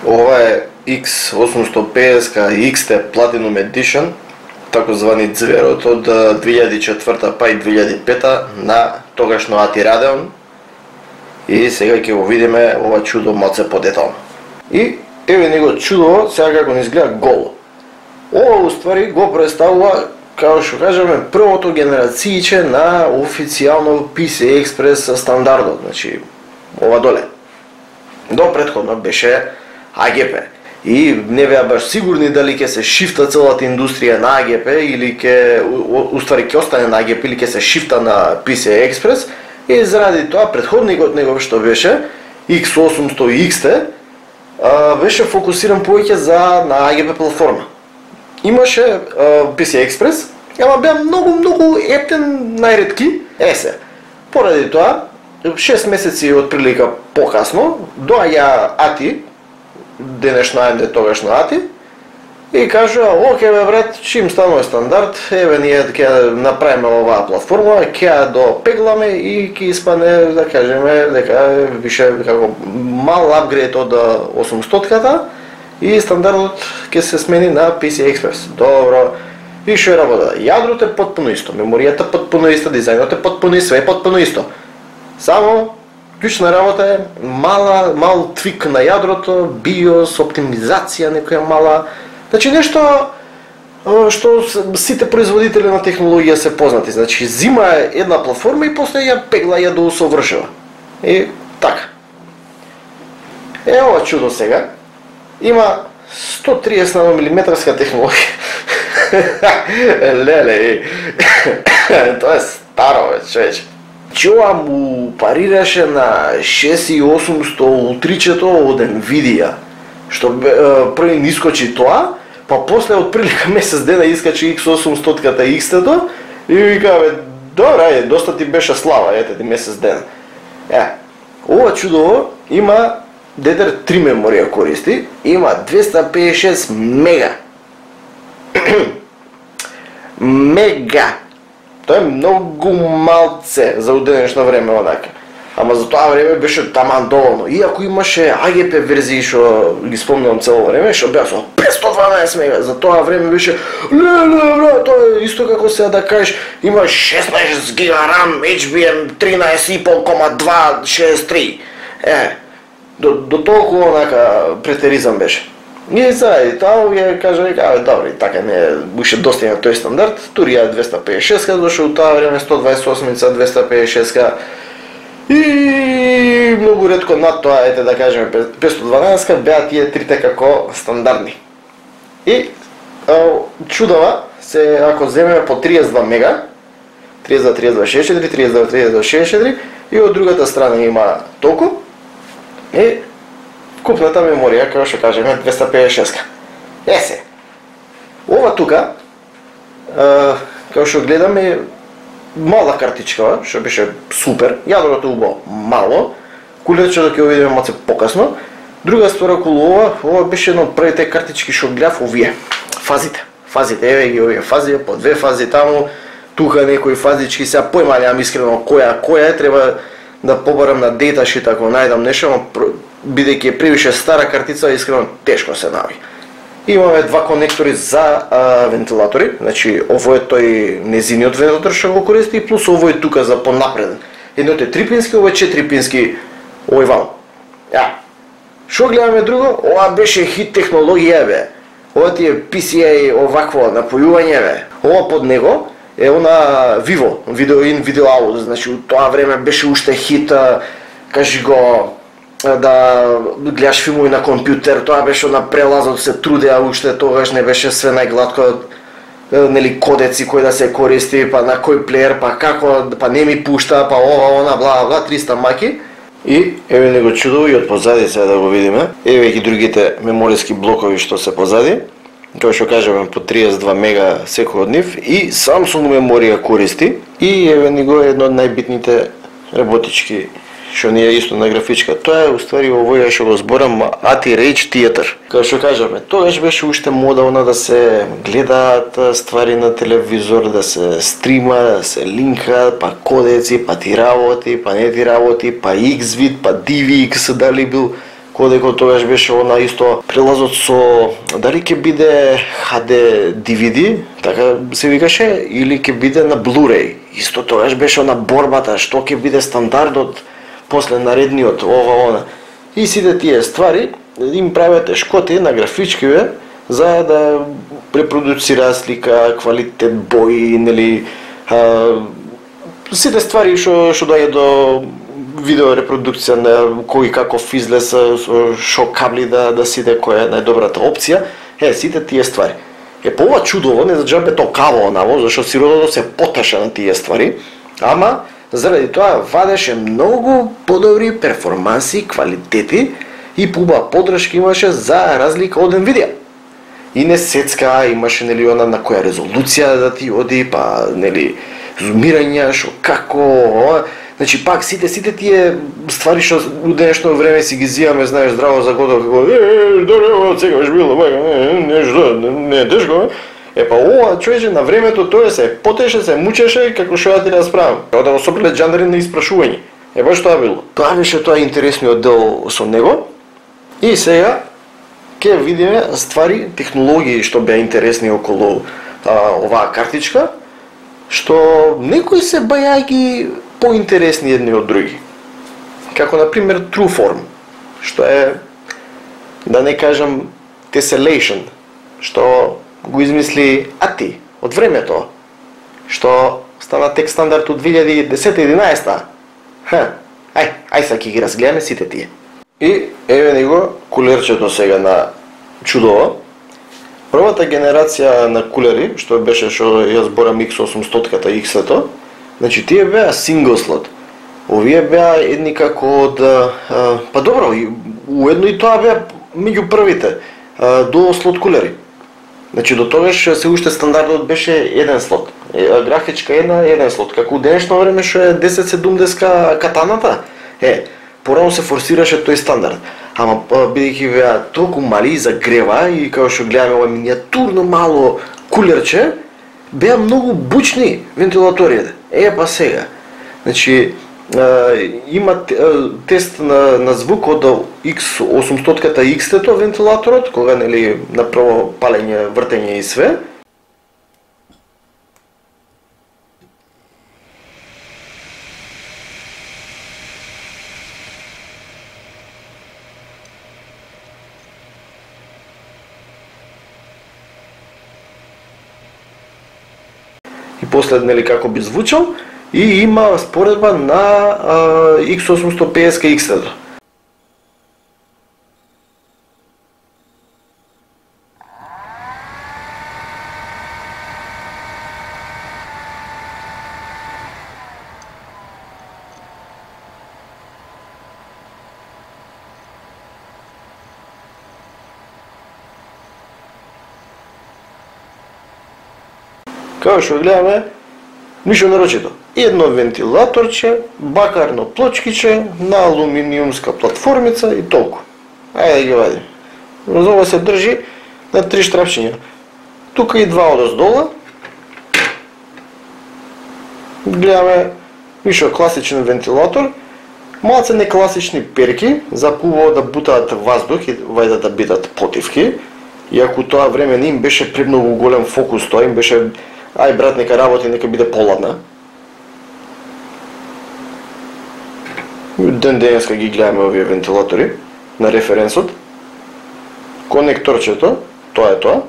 Ова е X850 XT Platinum Edition, тако звани зверот од 2004 па и 2005 на тогашно ATI Radeon. И сега ќе го видиме ова чудо малце подетално. И еве него чудо сега како не изгледа голо. Ова уствари го представува, како што кажеме, првото генерацијче на официјално PCI Express стандардот, значи ова доле. До претходно беше AGP. И не беа баш сигурни дали ќе се шифта целата индустрија на AGP или ќе уствари ќе остане на AGP или ќе се шифта на PCI Express. И заради тоа претходникот негов што беше X800 XT беше фокусиран повеќе на AGP платформа. Имаше PCI Express, ама беа многу ептен најретки. Се, поради тоа 6 месеци од прилика покасно доаѓа ATI, денешно AMD, тогашно ATI, и кажа: "Оке бе брат, чим станува стандард, еве ние ќе направиме оваа платформа, ќе ја допегламе и ќе испадне, да кажеме, дека више како мал апгрейд од 800-ката и стандардот ќе се смени на PCI Express." Добро. И што е работа? Јадрото е потпуно исто, меморијата потпуно иста, дизајнот е потпуно исто, све е потпуно исто. Само клучна работа е мал твик на јадрото, BIOS, оптимизација некоја мала. Значи нешто што сите производители на технологија се познати. Значи зима една платформа и после ја пегла, ја доусовршува. И така. Ова чудо сега има 130 нанометарска технологија. Леле, тоа е старо, човече. Ова му парираше на 6800 утричето од Nvidia, што први нискочи тоа, па после од прилика месец дена искачи X800-ката XT-то и вика: "Добре, доста ти беше слава, ете ти месец дена." Ова чудо има DDR3 меморија користи, има 256 мега. Мега. Тоа е многу малце за денешно време онака. Ама за тоа време беше таман доволно. Иако имаше AGP верзии што ги спомнувам цело време, што беа со 512 мега. За тоа време беше леле, тоа е исто како сега да кажеш има 16 гига RAM HBM 13,5,263. До толку онака претеризам беше. И заради тоа ја кажа, добро, и така не беше достигнат тој стандард. Турија 256-ка дошол у тоа време, 128-ца, 256-ка. И многу ретко над тоа, ете да кажеме 512-ка, беа тие трите како стандардни. И чудова се ако земеме по 32 мега, 32, 32, 64, 32, 32, 64 и од другата страна има толку. И купната меморија, како што кажеме, 256-ка. Се. Ова тука, како што гледаме, мала картичка, што беше супер, јадрото убаво мало, кулечето ќе го видиме малце покасно. Друга ствар околу ова беше една од првите картички што гледав, овие фазите. Еве ги овие фази, по две фази таму, тука некои фазички, сега појма немам искрено која е, треба да побарам на дейташит ако најдам нешто, бидејќи е превише стара картица, искрено тешко се наоѓа. Имаме два конектори за вентилатори, значи овој е тој незиниот вентилатор што го користи, плюс овој тука за понапреден. Едното е 3-пински, овој е 4-пински овој вал. Што гледаме друго? Ова беше хит технологија, бе. Ова ти е PCI овакво напојување, бе. Ова под него е она Vivo, Video In, Video Out, значи у тоа време беше уште хит, кажи го, да гледаш филмови на компјутер, тоа беше на прелазот, се трудеа уште, тогаш не беше све најгладко, нели кодеци кои да се користи, па на кој плеер, па како, па не ми пушта, па ова, она, бла, бла, 300 маки. И еве него чудо и од позади сега да го видиме. Еве ги другите мемориски блокови што се позади. Како што кажеме по 32 мега секој од нив и Samsung меморија користи и еве него едно од најбитните работички што не е исто на графичка. Тоа е уствари овој што го зборам ATI Rage Theater. Како што кажеме, тогаш беше уште модално да се гледаат ствари на телевизор, да се стрима, да се линка, па кодеци, па ти работи, па не ти работи, па Xvid, па DivX, дали бил кодека тогаш беше она исто прелазот со дали ќе биде HD DVD, така се викаше, или ќе биде на Blu-ray. Исто тогаш беше она борбата, што ќе биде стандардот после наредниот, ова, она. И сите тие ствари им правите шкоти на графичкиве за да репродуцира слика, квалитет, бои, нели, сите ствари што доаѓа до видео репродукција на кој каков излез, шо кабли да сиде, која е најдобрата опција, сите тие ствари. По ова чудово, не за џабе токаво онаво, зашто сиротото се потеше на тие ствари, ама заради тоа вадеше многу подобри перформанси, квалитети и пуба подршка имаше за разлика од Nvidia. И не сецка, имаше нели она на која резолуција да ти оди, па нели зумирање, шо како, значи пак сите тие ствари што у денешно време си ги зиваме, знаеш, здраво за годо, како дорево, секогаш било, нешто, не е тешко, па ова човече на времето тоа се потеше, се мучеше, како што ја ти расправам. Како да го соприле джандари на испрашување. Баш тоа било. Тоа беше тоа интересниот дел со него. И сега ќе видиме ствари, технологии што беа интересни околу оваа картичка, што некои се бајаги поинтересни едни од други. Како например Trueform, што е, да не кажам, Tessellation, што го измисли ATI од времето, што стана тек стандард од 2010-11. Ај са ќе ги разгледаме сите тие. И еве ни го кулерчето сега на чудово. Првата генерација на кулери, што беше што ја зборам X800-ката X-ето, значи тие беа single slot. Овие беа едни како од па добро, уедно и тоа беа меѓу првите до слот кулери. Значи до тогаш се уште стандардот беше еден слот. Графичка еден слот, како у денешно време што е 1070 катаната. Порано се форсираше тој стандард. Ама бидејќи беа толку мали за грева и како што гледаме ова миниатурно мало кулерче, беа многу бучни вентилаторите. Па сега. Значи има тест на звук од X800-ката X-тето вентилаторот, кога нели направо палење, вртење и све. И после нели како би звучал, и има споредба на X850 X-тето. Како што гледаме, ништо нарочито. Едно вентилаторче, бакарно плочкиче на алуминиумска платформица и толку. Ајде да ги вадим. Ова се држи на 3 штрапчиња. Тука и 2 одоздола. Гледаме ништо класичен вентилатор, малце некласични перки, за пубаво да бутаат воздух и вајде да бидат потивки. Иако тоа време не им беше премногу голем фокус, тоа им беше ај брат, нека работи, нека биде поладна. Денеска ги гледаме овие вентилатори на референсот. Конекторчето, тоа е тоа.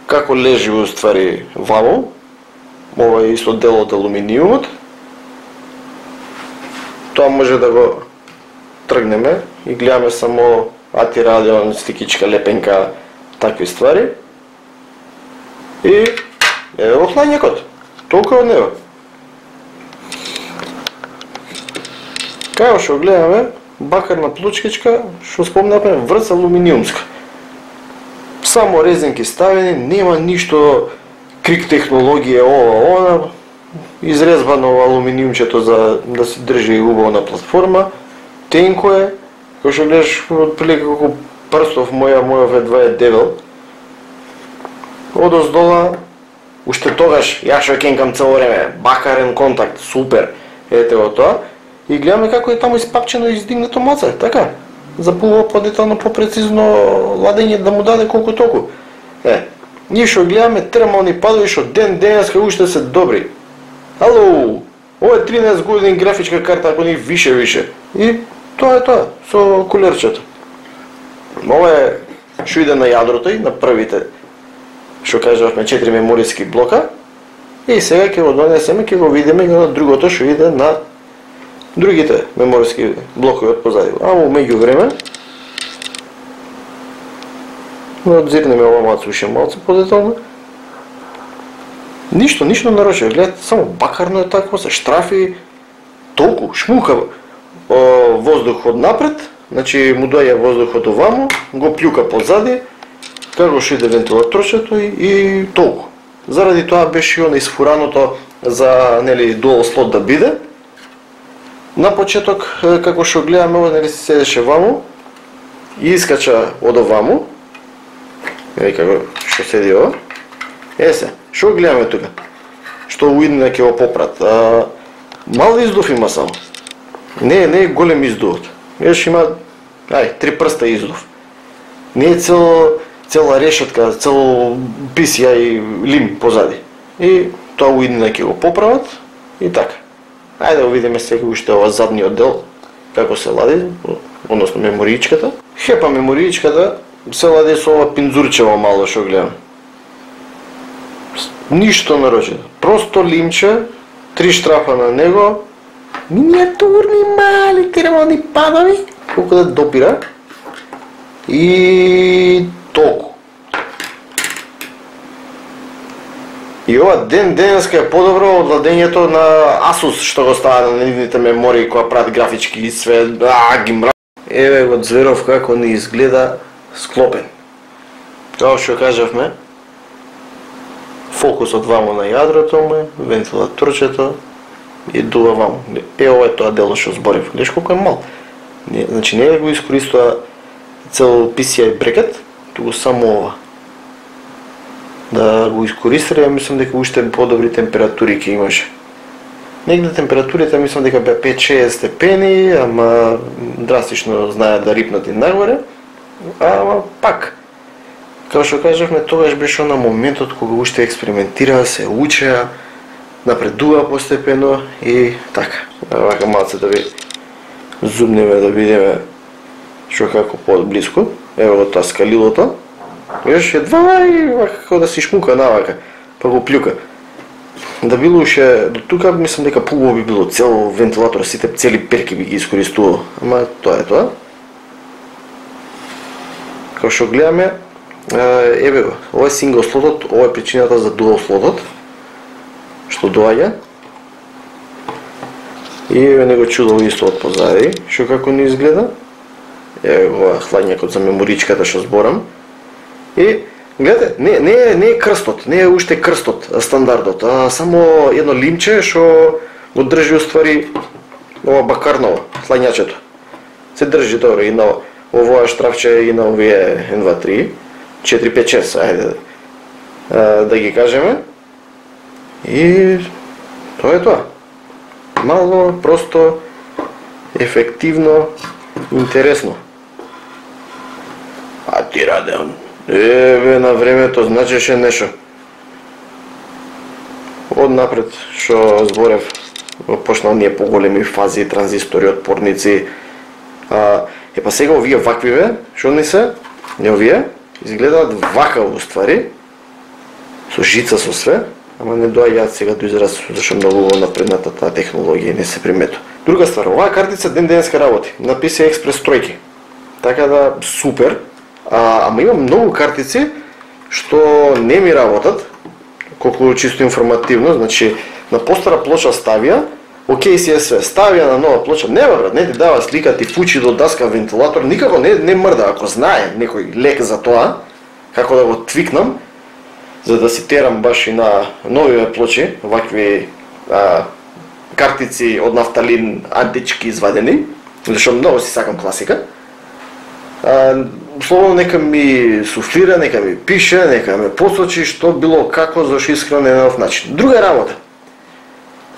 Како лежи уствари вамо, ова е исто дел од алуминиумот. Тоа може да го тргнеме и гледаме само ATI радион, стикичка, лепенка, такви ствари. И еве го хладњакот. Толку од него. Како што гледаме, бакарна плочкичка, што спомнавме, врц алуминиумска. Само резинки ставени, нема ништо крик технологија, она, изрезбано алуминиумчето за да се држи убаво на платформа. Тенко е, кој што гледаш отприлика како прстов мојов едва е дебел. Одоздола, уште тогаш, ја што кенкам цело време, бакарен контакт, супер, ете го тоа. и гледаме како е таму испапчено и издигнато маце, така. Запува подетално попрецизно ладење да му даде колку толку. Ние што гледаме термални падови што денеска уште се добри. Ало, ова е 13 години графичка карта, ако не више. И тоа е тоа, со кулерчето. Ова е што иде на јадрото и на првите, што кажавме 4 мемориски блока. И сега ќе го донесеме, ќе го видиме на другото што иде на другите мемориски блокови од позади. Ама меѓувреме надзирнеме ова малце подетално. Ништо нарочно, гледате, само бакарно е такво, се штрафи, толку, шмука воздух од напред, значи му доаѓа воздухот оваму, го плюка позади, како што иде вентилаторчето и толку. Заради тоа беше она изфураното за дуал слот да биде. На почеток, како што гледаме, ова седеше ваму и искача од оваму. Како што седи ова. Се, што гледаме тука? Што уидне ќе го попрат. Мал издув има само. Не е голем издувот. Има 3 прста издув. Не е цела решетка, цел писија и лим позади. И тоа уидне ќе го поправат и така. Ајде да видиме сега уште ова задниот дел како се лади, односно мемориичката. Хепа мемориичката се лади со ова пинзурчево мало што гледам. Ништо нарочно. Просто лимче, 3 штрафа на него, миниатурни мали термални падови, колку да допира. И толку. И ова денеска е подобро од ладењето на Asus што го става на нивните мемории која прават графички и све, ги мра. Еве го Зверов како ни изгледа склопен. Како што кажавме, фокусот вамо на јадрото му, вентилаторчето и дува вамо. Ова е тоа дело што зборев. Гледаш колку е мал. Значи не го искористува цел PCI брекет, туку само ова. Да го искористира, мислам дека уште подобри температури ќе имаше. Негде температурите мислам дека беа 5-6 степени, ама драстично знаат да рипнат и нагоре. Ама пак, како што кажавме, тогаш беше на моментот кога уште експериментира, се учеа, напредува постепено и така. Вака малце да ви зумнеме да видиме што како подблиску. Ево го тоа скалилото. Виж, едва и како да си шмука навака, па го плюка. Да било уште до тука, мислам дека поубаво би било цел вентилатор, сите цели перки би ги искористувал. Ама тоа е тоа. Како што гледаме, еве го, ова е сингл слотот, ова е причината за дуал слотот, што доаѓа. И еве него чудо исто од позади, што како не изгледа. Еве го хладњакот за меморичката што зборам. И гледате, не е крстот, не е уште крстот стандардот, а само едно лимче што го држи уствари ова бакарново, хладњачето. Се држи добро и на овоја штрафче и на овие 1, 2, 3, 4, 5, 6, ајде да ги кажеме. И тоа е тоа. Мало, просто, ефективно, интересно. А ти Радеон, еве на времето значеше нешто. Од напред што зборев, почнал ние поголеми фази, транзистори, отпорници. Па сега овие ваквиве, што не се, не овие, изгледаат вака уствари, со жица, со све, ама не доаѓаат сега до израз, зашто многу напредната таа технологија не се приметува. Друга ствар, оваа картица денеска работи, на PCI Express тројки. Така да супер. Ама имам многу картици што не ми работат, колку чисто информативно, значи на постара плоча ставија, окей си е све, ставија на нова плоча, не брат, не ти дава слика, ти фучи до даска вентилатор, никако не мрда, ако знае некој лек за тоа, како да го твикнам, за да си терам баш и на новиве плочи, вакви картици од нафталин антички извадени, зашто многу си сакам класика. Словно нека ми суфлира, нека ми пише, нека ме посочи што било како, зашто искрено на нов начин. Друга работа.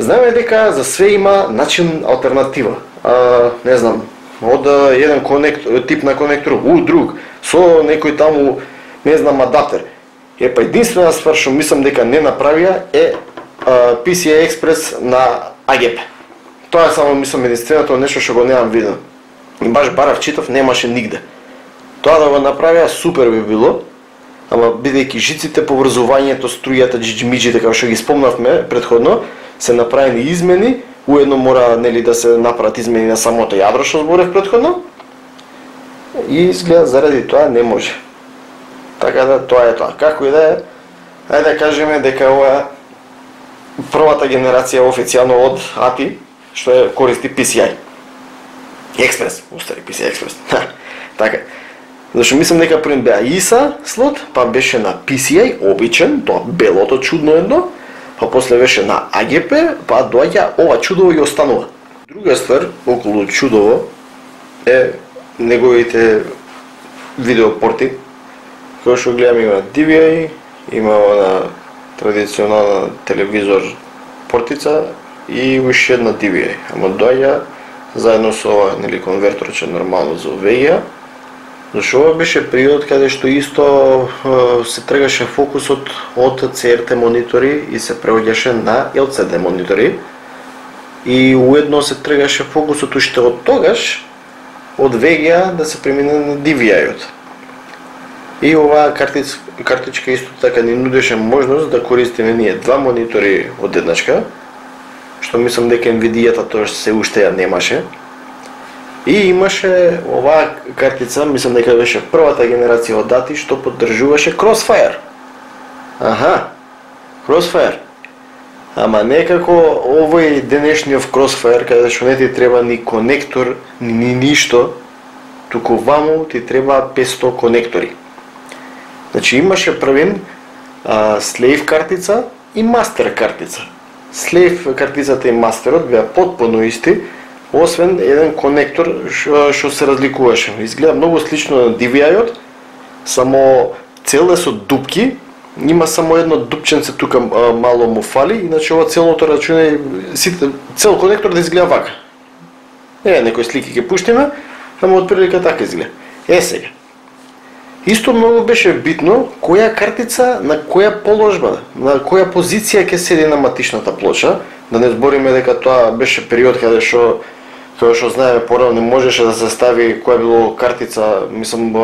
Знаеме дека за све има начин алтернатива. Не знам, од еден тип на конектор у друг, со некој таму, не знам, адаптер. Па единствена ствар што мислам дека не направија е PCI Express на AGP. Тоа е само, мислам, единственото нешто што го немам видено. И баш барав читав, немаше нигде. Тоа да го направија супер би било, ама бидејќи жиците, поврзувањето, струјата, джиджимиджите, како што ги спомнавме предходно, се направени измени, уедно мора, нели, да се направат измени на самото јадро што зборев предходно. И изгледа заради тоа не може. Така да тоа е тоа. Како и да е, ајде да кажеме дека ова е првата генерација официјално од ATI што е користи PCI Express, устари PCI Express. Така. Зашто мислам дека првен беа ISA слот, па беше на PCI обичен, тоа белото чудно едно, па после беше на AGP, па доаѓа ова чудово и останува. Друга ствар околу чудово е неговите видеопорти, кој што гледаме има DVI, има на традиционална телевизор портица и уште една DVI, ама доаѓа заедно со ова, нели, конверторче нормално за VGA. Зашто ова беше период каде што исто се тргаше фокусот од CRT монитори и се преоѓаше на LCD монитори. И уедно се тргаше фокусот уште од тогаш од VGA да се премине на DVI-от. И оваа картичка исто така ни нудеше можност да користиме ние два монитори од еднашка, што мислам дека NVIDIA-та тоа се уште ја немаше. И имаше оваа картица, мислам дека беше првата генерација од ATI што поддржуваше Crossfire. Аха, Crossfire. Ама некако овој денешниот Crossfire, каде што не ти треба ни конектор, ни ништо, туку ваму ти треба 500 конектори. Значи имаше првен Slave картица и Master картица. Slave картицата и Masterот беа потпуно исти, освен еден конектор што се разликуваше. Изгледа многу слично на DVI-от, само цел е со дупки, има само едно дупченце тука мало му фали, иначе ова целото рачуне, цел конектор да изгледа вака. Некои слики ќе пуштиме, само отприлика така изгледа. Сега. Исто многу беше битно која картица на која положба, на која позиција ќе седи на матичната плоча, да не збориме дека тоа беше период каде што знаеме порано не можеше да се стави која било картица, мислам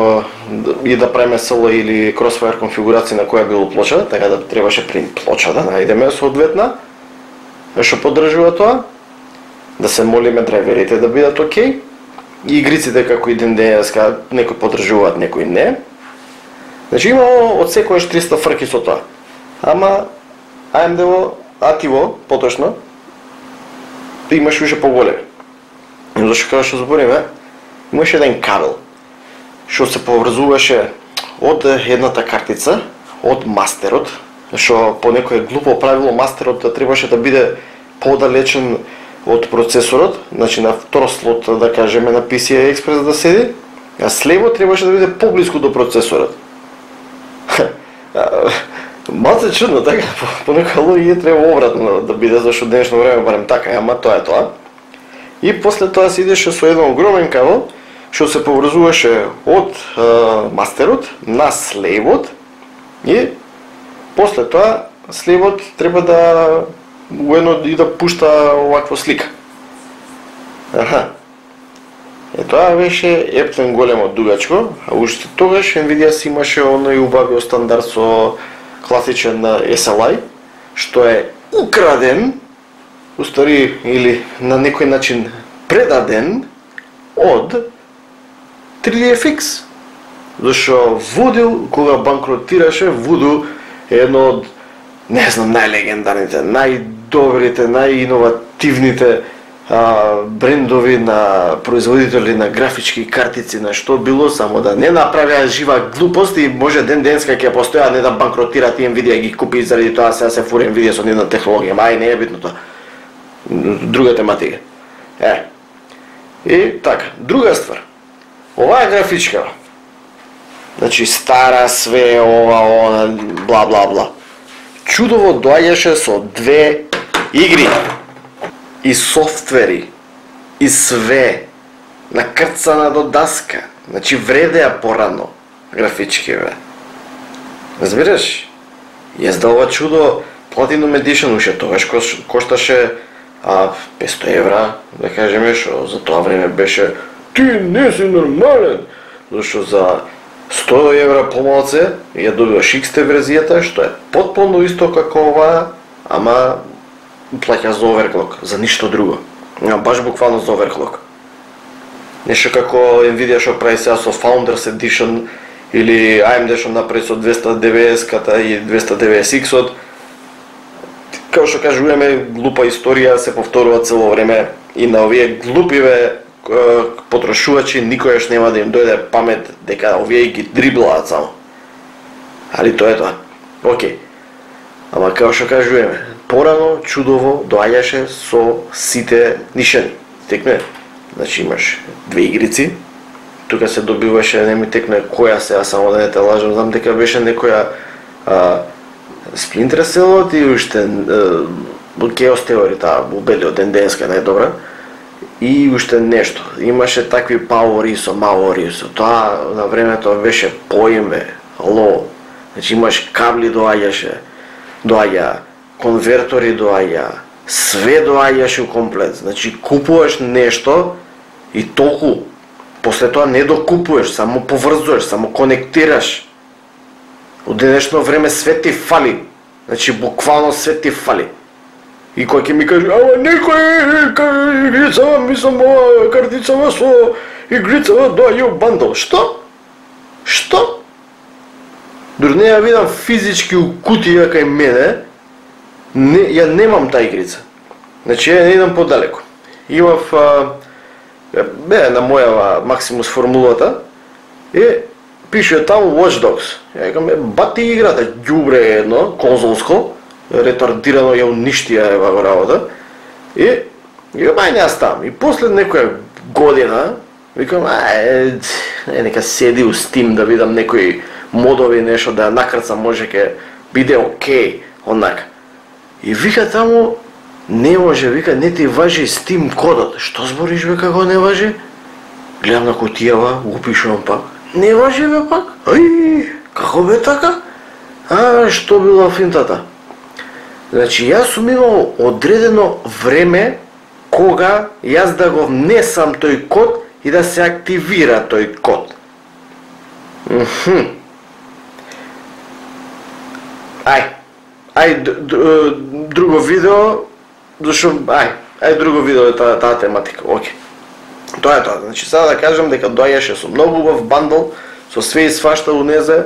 и да правиме SL или Crossfire конфигурација на која било плоча, така да требаше принт плоча да најдеме соодветна што поддржува тоа, да се молиме драйверите да бидат окей. И игриците како и ден денеска некои поддржуваат, некои не. Значи има од секојаш 300 фрки со тоа. Ама AMD-во, ATI-во, поточно, имаш уште поголеми. Зашто како што збориме, имаше еден кабел што се поврзуваше од едната картица, од мастерот, што по некое глупо правило мастерот требаше да биде подалечен од процесорот, значи на втор слот, да кажеме, на PCI Express да седи, а слево требаше да биде поблиску до процесорот. Малце чудно, така, по некоја логика треба обратно да биде, зашто денешно време барем така, ама тоа е тоа. И после тоа се идеше со еден огромен кабел, што се поврзуваше од мастерот на слевот и после тоа слевот треба да уедно и да пушта оваква слика. Аха. Тоа беше ептен големо дугачко, а уште тогаш NVIDIA си имаше оној убавиот стандард со класичен SLI, што е украден, устари или на некој начин предаден од 3DFX. Зашто Voodoo, кога банкротираше, Voodoo е едно од, не знам, најлегендарните, најдобрите, најиновативните брендови на производители на графички картици, на што било, само да не направија жива глупост и може ден денска ќе постоја, не да банкротираат и NVIDIA ги купи заради тоа сега се фури NVIDIA со нивна технологија, мај не е битно тоа. Друга тематика. И така, друга ствар. Оваа графичка, значи стара све, ова, бла бла бла. Чудово доаѓаше со две игри. и софтвери, и све, накрцана до даска. Значи вредеа порано графички, бе. Разбираш? Јас да ова чудо Platinum Edition уште тогаш кошташе 500 евра, да кажеме, што за тоа време беше ти не си нормален, зашто за 100 евра помалце ја добиваш XT верзијата, што е потполно исто како ова, ама плаќа за overclock, за ништо друго. Баш буквално за overclock. Нешто како Nvidia што прави сега со Founders Edition или AMD што направи со 290-ката и 290X-от. Како што кажуваме, глупа историја се повторува цело време и на овие глупиве потрошувачи никојаш нема да им дојде памет дека овие ги дриблаат само. Али тоа е тоа. Океј. Ама како што кажуваме, порано чудово доаѓаше со сите нишани. Текне, значи имаш две игрици, тука се добиваше, не ми текне која сега, само да не те лажам, знам дека беше некоја Splinter Cell и уште Chaos Theory, таа убедливо тенденска најдобра. И уште нешто. Имаше такви Power ISO, Mao ISO. Тоа на времето беше поиме, ало. Значи имаш кабли доаѓа, конвертори доаѓа, све доаѓаше комплет. Значи купуваш нешто и толку. После тоа не докупуваш, само поврзуваш, само конектираш. Од денешно време све ти фали. Значи буквално све ти фали. И кој ќе ми каже, ама некој игрицава, мислам, ова картицава со игрицава доаѓа у бандл. Што? Што? Дури не ја видам физички у кутија кај мене, ја немам таа игрица. Значи ја не идам подалеку. Имав на моја Maximus формулата и пише таму Watch Dogs. Ја викам, бати играта, ѓубре едно, конзолско, ретардирано ја уништија ева го работа. И ај не ставам. И после некоја година, викам, нека седи у Steam да видам некои модови, нешто да ја накрцам, може ке биде окей, онака. И вика таму, не може, вика, не ти важи Steam кодот. Што збориш, бе, како не важи? Гледам на кутијава, го пишувам пак. Не важи, бе, пак? Ај, како бе така? Што била финтата? Значи, јас сум имал одредено време кога јас да го внесам тој код и да се активира тој код. Ај, друго видео, зашо, друго видео е таа тематика, окей. Тоа е тоа, значи сега да кажам дека доаѓаше со многу убав бандл, со све и свашта унезе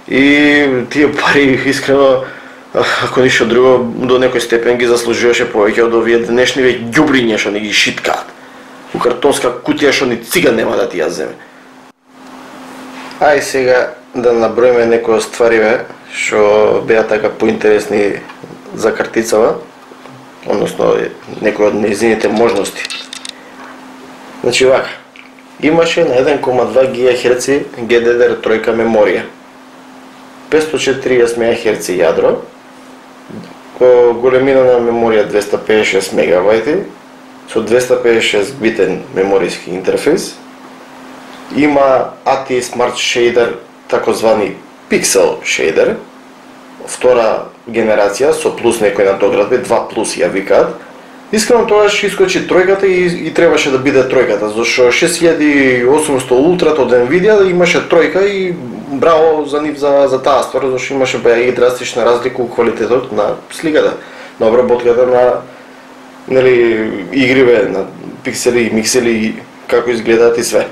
и тие пари искрено, ако ништо друго, до некој степен ги заслужуваше повеќе од овие денешниве ѓубриња што ни ги шиткаат. У картонска кутија што ни цига нема да ти ја земе. Ај сега да наброиме некои ствариве што беа така поинтересни за картицава, односно некои од нејзините можности. Значи вака, имаше на 1,2 ГHz GDDR3 меморија, 540 МHz јадро, големина на меморија 256 МБ, со 256 битен мемориски интерфейс, има ATI Smart Shader, такозвани Pixel Shader, втора генерација со плюс некои надоградби, 2 плюс ја викаат. Искрено тогаш искочи тројката и требаше да биде тројката, зашто 6800 Ultra од Nvidia имаше тројка и браво за нив за таа ствар, зашто имаше баја и драстична разлика у квалитетот на сликата, на обработката на игриве, на пиксели, миксели, како изгледаат и све.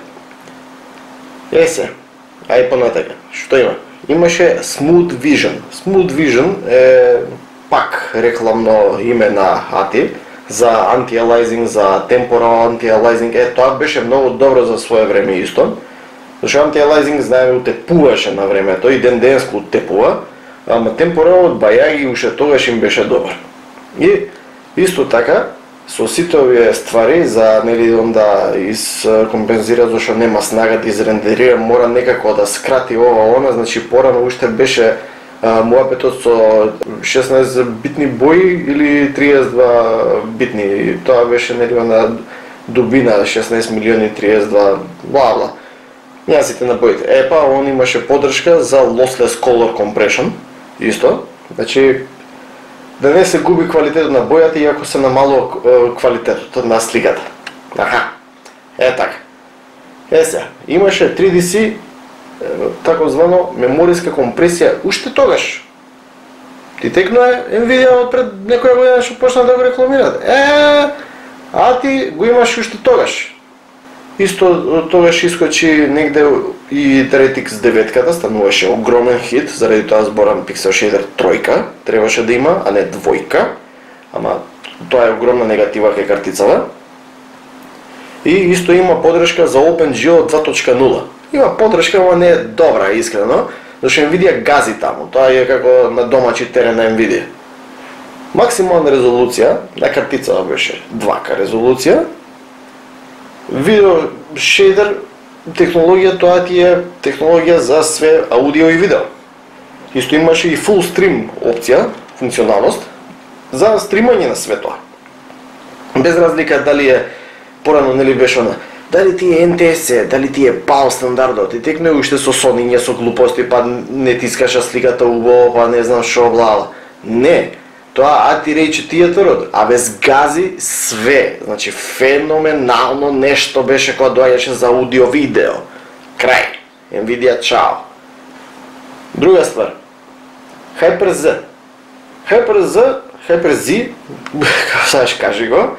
Ај понатака, што има? Имаше Smooth Vision. Smooth Vision е пак рекламно име на ATI за anti-aliasing, за temporal anti-aliasing. Тоа беше многу добро за свое време исто. Зашто anti-aliasing, знаеме, утепуваше на времето и ден-денско утепува, ама temporalот бајаги уште тогаш им беше добар. И исто така, со сите овие ствари за да искомпензира зашто нема снага да изрендерира, мора некако да скрати ова она, значи порано уште беше муапетот со 16 битни бои или 32 битни. Тоа беше нели на дубина 16 милиони 32 бла. Јазите на боите. Епа, он имаше поддршка за lossless color compression, исто. Значи, да не се губи квалитетот на бојата иако се намало квалитетот на сликата. Аха. Така. Сега, имаше 3DC тако звано мемориска компресија уште тогаш. Ти текнува Nvidia отпред некоја година што почна да го рекламираат. А ти го имаш уште тогаш. Исто тогаш искочи негде и DirectX 9-ката, стануваше огромен хит, заради тоа зборам Pixel Shader 3 требаше да има, а не 2, ама тоа е огромна негатива кај картицава. И исто има поддршка за OpenGL 2.0. Има поддршка, ама не е добра, искрено, зашто Nvidia гази таму, тоа е како на домачи терен на Nvidia. Максимална резолуција на картицава беше 2К резолуција. Видео шейдер технологија, тоа ти е технологија за све аудио и видео. Исто имаше и full stream опција, функционалност за стримање на све тоа. Без разлика дали е порано нели беше она, дали ти е NTSC, дали ти е PAL стандардот, и текне уште со сонење, со глупости, па не тискаша сликата убаво, па не знам шо блала. Не. Тоа AT-Ray театрот, а без гази све, значи феноменално нешто беше кога доаѓаше за аудио-видео. Крај. Nvidia чао. Друга ствар. Hyper-Z. Hyper-Z, како саш кажи го,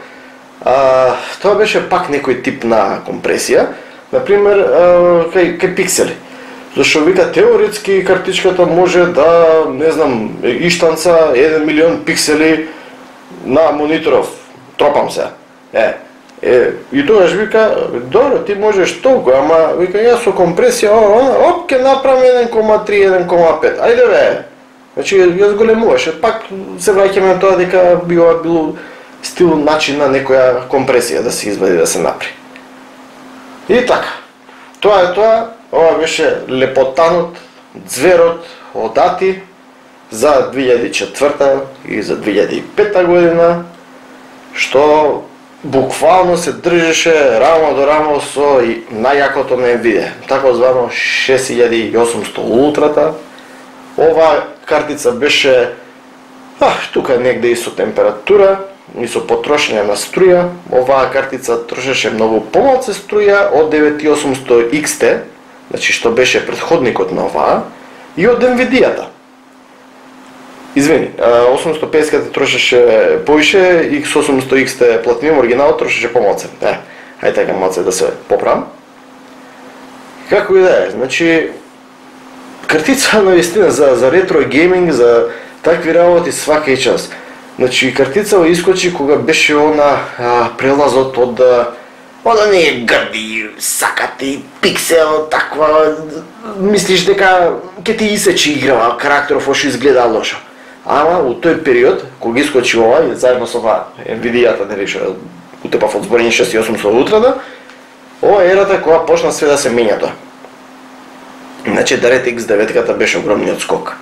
тоа беше пак некој тип на компресија, например, кај пиксели. Зашто вика теоретски картичката може да, не знам, иштанца 1 милион пиксели на мониторов. Тропам се. И тогаш вика, добро, ти можеш толку, ама вика јас со компресија, оп, ке направам 1,3, 1,5. Ајде бе. Значи јас големуваше, пак се враќаме на тоа дека би ова било стил начин на некоја компресија да се извади, да се направи. И така. Тоа е тоа. Ова беше лепотанот, зверот од ATI за 2004 и за 2005 година, што буквално се држеше рамо до рамо со најакото на Nvidia, тако звано 6800 ултрата. Ова картица беше тука негде и со температура, и со потрошење на струја. Оваа картица трошеше многу помалку струја од 9800 XT, значи што беше претходникот на оваа, и од Nvidia-та. Извини, 850-ката трошеше повише, X800 XT Platinum оригинал трошеше помалку. Ајде така малце да се поправам. Како и да е, значи картица навистина за ретро гейминг, за такви работи свака час. Значи картица искочи кога беше она прелазот од не е грди, сакати, пиксел, таква, мислиш дека ќе ти исечи играва, карактеров ошо изгледа лошо. Ама у тој период, кога искочи ова, заедно со ова Nvidia-та, нели што утепав од зборење 6800 ултрата, ова е ерата кога почна све да се менја тоа. Значи DirectX 9-ката беше огромниот скок.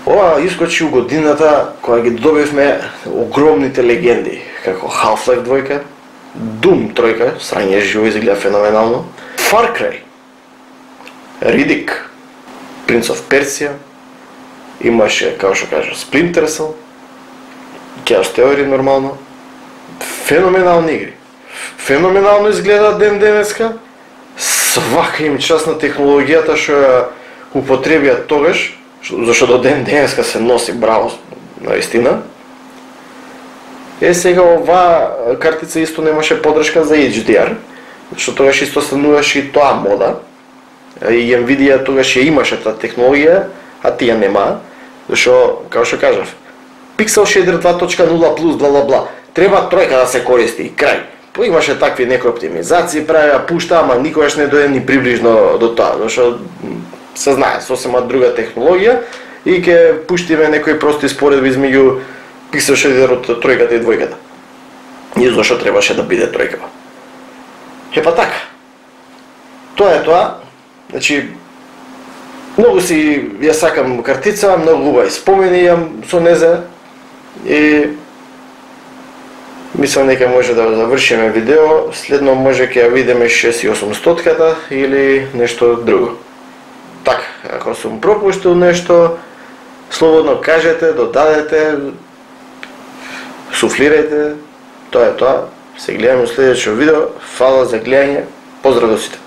Ова искочи у годината кога ги добивме огромните легенди, како Half-Life 2, Doom 3, срање живо изгледа феноменално, Far Cry, Riddick, Prince of Persia, имаше, како што кажа, Splinter Cell, Chaos Theory нормално, феноменални игри. Феноменално изгледа ден денеска, свака им част на технологијата што ја употребија тогаш, зашто до ден денеска се носи браво, наистина. Сега оваа картица исто немаше поддршка за HDR, што тогаш исто стануваше и тоа мода. И Nvidia тогаш ја имаше таа технологија, а тие нема, зашто, како што кажав, Pixel Shader 2.0 плюс бла. Треба тројка да се користи, крај. Имаше такви некои оптимизации, правеа, пушта, ама никогаш не дојде ни приближно до тоа, зашто се знае, сосема друга технологија и ќе пуштиме некои прости споредби измеѓу Pixel Shader од тројката и двојката. И зашто требаше да биде тројката. Епа така. Тоа е тоа. Значи, Многу си ја сакам картица, многу убави спомени имам со незе и мислам дека може да завршиме видео, следно може ќе ја видиме 6800-ката или нешто друго. Така, ако сум пропуштил нешто, слободно кажете, додадете, суфлирајте, тоа е тоа. Се гледаме во следеќето видео. Фала за гледање. Поздрав до сите.